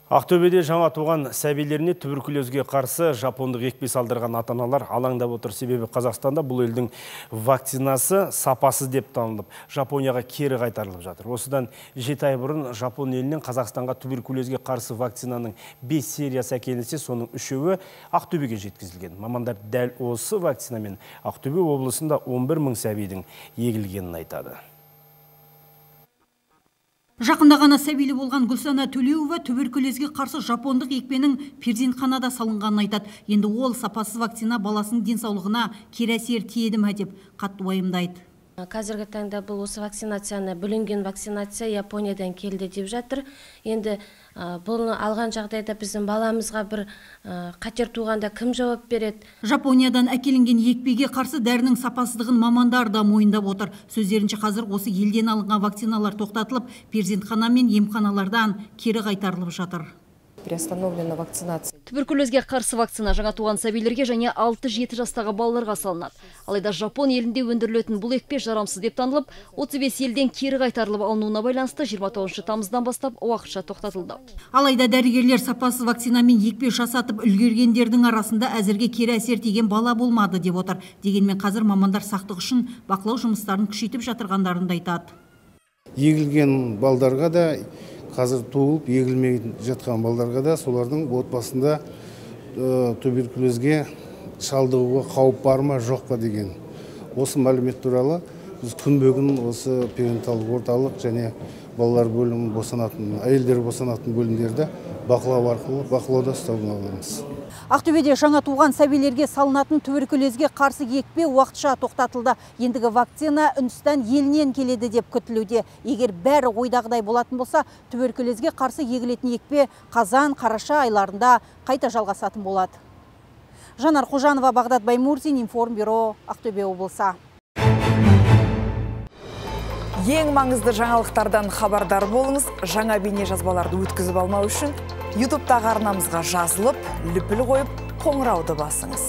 Ақтөбеде жаңа туған сәбилеріне туберкулезге қарсы жапондық екпе салдырған ата-аналар алаңдап отыр. Себебі Қазақстанда бұл елдің вакцинасы сапасыз деп танылып, Жапонияға кері қайтарылып жатыр. Осыдан 7 ай бұрын Жапон елінен Қазақстанға туберкулезге қарсы вакцинаның 5 сериясы әкелінсе, соның 3-і Ақтөбеге жеткізілген. Мамандар дәл осы вакцинамен Ақтөбе облысында 11 мың сәбидің егілгенін айтады. Жақында ғана сәбилі болған Гүлсана Төлеуова туберкулезге қарсы жапондық екпенің перзентханада салынғанын айтады. Енді ол сапасыз вакцина баласының денсаулығына кері әсер тиеді ме деп қатты уайымдайды. Қазіргі таңда бұл осы вакцинацияны бүлінген вакцинация Япониядан келді деп жатыр. Енді бұны алған жағдайда біздің баламызға бір қатер туғанда кім жауап береді? Жапониядан әкелінген екпеге қарсы дәрінің сапасыздығын мамандар да мойындап отыр. Сөздерінше қазір осы елден алынған вакциналар тоқтатылып, перзентхана мен емханалардан кері қайтарылып жатыр. Приостановлена вакцинация. Туберкулезге қарсы вакцина жаңа туған сәбилерге және 6-7 жастағы балаларға салынады. Алайда Жапон елінде өндірілетін бұл екпе жарамсыз деп танылып, 35 елден кері қайтарылып алынуына байланысты 29 тамыздан бастап уақытша тоқтатылды. Алайда дәрігерлер сапасыз вакцинамен екпе жасатып үлгергендердің арасында әзірге кері әсер тиген бала болмады деп отыр. Дегенмен қазір мамандар сақтық үшін бақылау жұмыстарын күшейтіп жатырғандарын да айтады. Егілген балдарға да қазір туылып, егілмей жатқан балдарға да солардың отбасында туберкулезге шалдығуға қауіп бар ма, жоқ па деген. Осы мәлімет туралы біз күнбе-күн осы перинаталдық орталық және балалар бөлімі босанатын, әйелдер босанатын бөлімдерді бақылауда ұстауға аламыз. Ақтөбеде жаңа туған сәбилерге салынатын туберкулезге қарсы екпе уақытша тоқтатылды. Ендігі вакцина Үндістан елінен келеді деп күтілуде. Егер бәрі ойдағыдай болатын болса, туберкулезге қарсы егілетін екпе қазан-қараша айларында қайта жалғасатын болады. Жанар Қожанова, Бағдат Баймурзин, Информбюро, Ақтөбе облысы. Ең маңызды жаңалықтардан хабардар болыңыз. Жаңа бейне жазбаларды өткізіп алмау үшін YouTube'тағы арнамызға жазылып, лүпіл қойып, қоңырауды басыңыз.